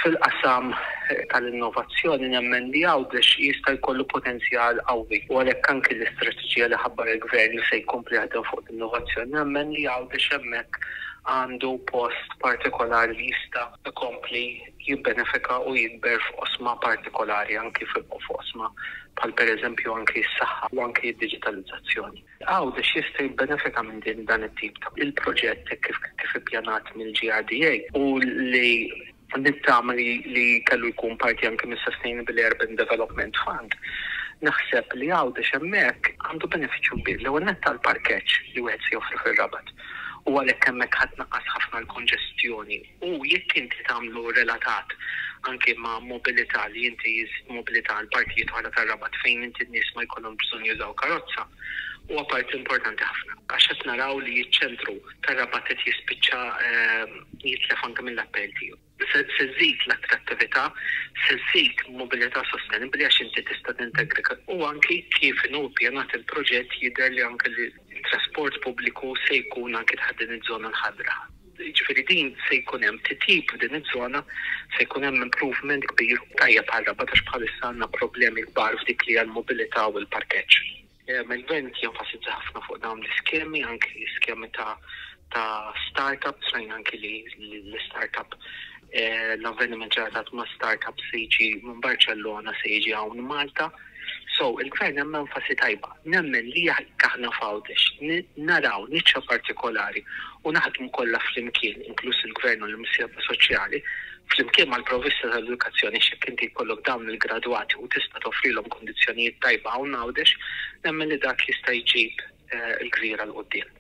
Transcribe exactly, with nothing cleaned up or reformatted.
Fil-qasam tal-innovazzjoni nemmen li Għawdex jista' jkollu potenzjal qawwi, u għalhekk anki l-istrateġija li ħabbar il-gvern li se jkompli jaħdem fuq l-innovazzjoni, nemmen li Għawdex hemmhekk għandu post partikolari li jista' jkompli jibbenefika u jikber f'oqsma partikolari, anki f'oqsma bħal pereżempju anki s-saħħa u anki d-diġitalizzazzjoni. Għawdex jista' jibbenefika minn din dan it-tip ta' il-proġett kif kif ippjanat mill-G R D A u li nittama li, li kellu jkun parti anke mis-Sustainable Urban Development Fund. Naħseb li Għawdex hemmhekk għandu benefiċċju kbir, l-ewwel nett tal-parkeġġ li wieħed se joffri fir-Rabat. U għalhekk hemmhekk ħa tnaqqas ħafna l-konġestjoni. U jekk inti tagħmlu relatat anke ma' mobilità, li inti mobilità għal partijiet oħra tar-Rabat fejn inti n-nies ma jkollhom bżonn jużaw karozza, huwa parti importanti ħafna. Għax qed naraw li ċ-ċentru tar-Rabat qed jispiċċa ehm, jitlef anke mill-appell tiegħu. Se żżid l-attrattività, se żżid mobilità sostenibbli għax inti tista' tintegra, u anki kif inhu ppjanat il-proġett jidher li anke li l-trasport pubbliku se jkun anke taħt din iż-żona l-ħadra. Ġifieri din se jkun hemm titjib f'din iż-żona, se jkun hemm improvement kbir tajjeb għal Rabat għax bħalissa għandna problemi kbar f'dik li għall-mobilità u l-parkeġġ. Il-gvern jenfasizza ħafna fuq dawn l-iskemi, anki skemi ta' ta' startups, fejn anki li l-startup, l-avveniment ġratat ma' startup se jiġi minn Barcellona, se jiġi hawn Malta. So, il-gvern hemm enfasi tajba. Nemmen li jekk aħna f'Għawdex naraw niċċa partikolari u naħdmu kollha flimkien, inkluż il-gvern u l-imsieħba soċjali, flimkien mal-provvista tal-edukazzjoni, x'jekk inti jkollok dawn il-gradwati u tista' toffrilhom kondizzjonijiet tajba hawn Għawdex, nemmen li dak jista' jġib il-gżira 'l quddiem.